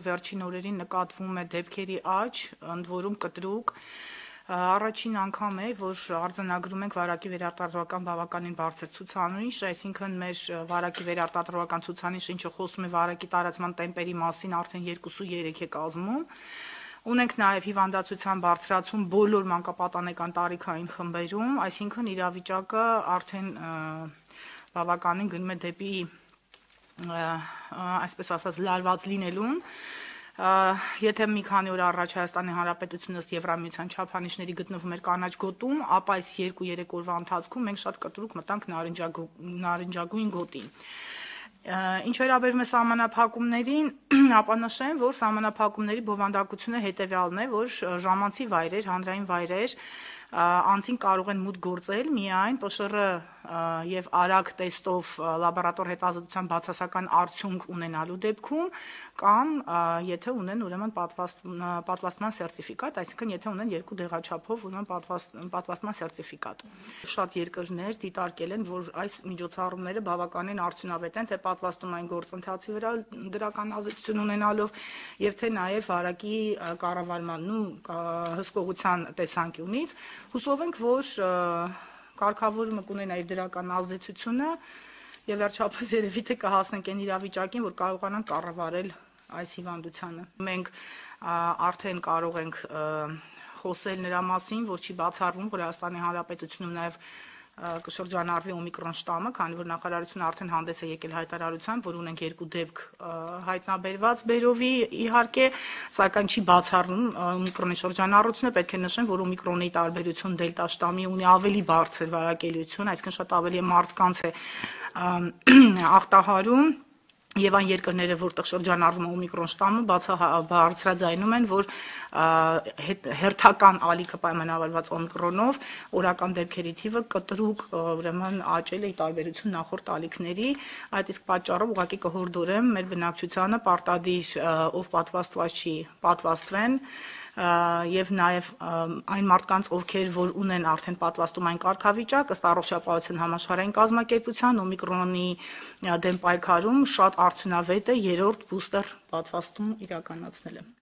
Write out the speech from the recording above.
Վերջին օրերին նկատվում է դեպքերի աճ, ընդ որում կտրուկ, առաջին անգամ է, որ արձանագրում ենք վարակի վերարտադրական բավականին բարձր ցուցանիշ, այսինքն մեր վարակի վերարտադրական ցուցանիշը, ինչը խոսում է վարակի տարածման տեմպերի մասին, արդեն 2.3 է կազմում։ Ունենք նաև հիվանդացության բարձրացում բոլոր մանկապատանեկան տարիքային խմբերում, այսինքն իրավիճակը արդեն բավականին գնում է դեպի այսպես ասած լարված լինելուն, եթե մի քանի օր առաջ Հայաստանի Հանրապետությունը ըստ Եվրամիության չափանիշների գտնվում էր կանաչ գոտում, ապա այս 2-3 օրվա ընթացքում մենք շատ կտրուկ մտանք նարնջագույն գոտին։ Ինչ վերաբերում է սահմանափակումներին, ապա նշեմ, որ սահմանափակումների բովանդակությունը հետևյալն է, որ ժամանցի վայրեր, հանրային վայրեր անձին կարող են մուտք գործել միայն ՊՇՌ եւ արագ տեստով լաբորատոր հետազոտության բացասական արդյունք ունենալու դեպքում կամ եթե ունեն ուրեմն պատվաստման սերտիֆիկատ, այսինքն եթե ունեն 2 դեղաչափով ուրեմն պատվաստման սերտիֆիկատ։ Շատ երկրներ դիտարկել են, որ այս միջոցառումները բավականին արդյունավետ են, թե պատվաստումային գործընթացի վրա դրական ազդեցություն ունենալով եւ թե նաեւ վարակի կառավարման ու հսկողության տեսանկյունից։ Հուսով ենք, որ կարգավորումը կունենա իր դրական ազդեցությունը եւ վերջապես երևի թե կհասնենք այն իրավիճակին, որ կարողանանք կառավարել այս հիվանդությանը։ Մենք արդեն կարող ենք խոսել նրա մասին, որ չի բացառվում, որ Հայաստանի Հանրապետությունում նաեւ կշրջանառվի օմիկրոն շտամը, քանի որ նախարարությունը արդեն հանդես է եկել հայտարարությամբ, որ ունենք 2 դեպք հայտնաբերված բերովի իհարկե, սակայն չի բացառում օմիկրոնի շրջանառությունը, պետք է նշեմ, որ օմիկրոնի տարբերություն դելտա շտամի ունի ավելի բարձր վարակելիություն, այսինքն շատ ավելի մարդկանց է ախտահարում եւ այն երկրները, որտեղ շրջանառվում է օմիկրոն շտամը, բարձրաձայնում են, որ հերթական ալիքը պայմանավորված օմիկրոնով օրական դեպքերի թիվը կտրուկ ուրեմն աճել է ի տարբերություն նախորդ ալիքների, այդ իսկ պատճառով ուղղակի կհորդորեմ մեր բնակչությանը պարտադիր ով պատվաստված չի, պատվաստվեն եւ նաեւ այն մարդկանց, ովքեր որ ունեն արդեն պատվաստումային կարգավիճակ, ըստ Առողջապահության համաշխարհային կազմակերպության օմիկրոնի դեմ պայքարում շատ արդյունավետ է 3-րդ բուստեր պատվաստում իրականացնելը։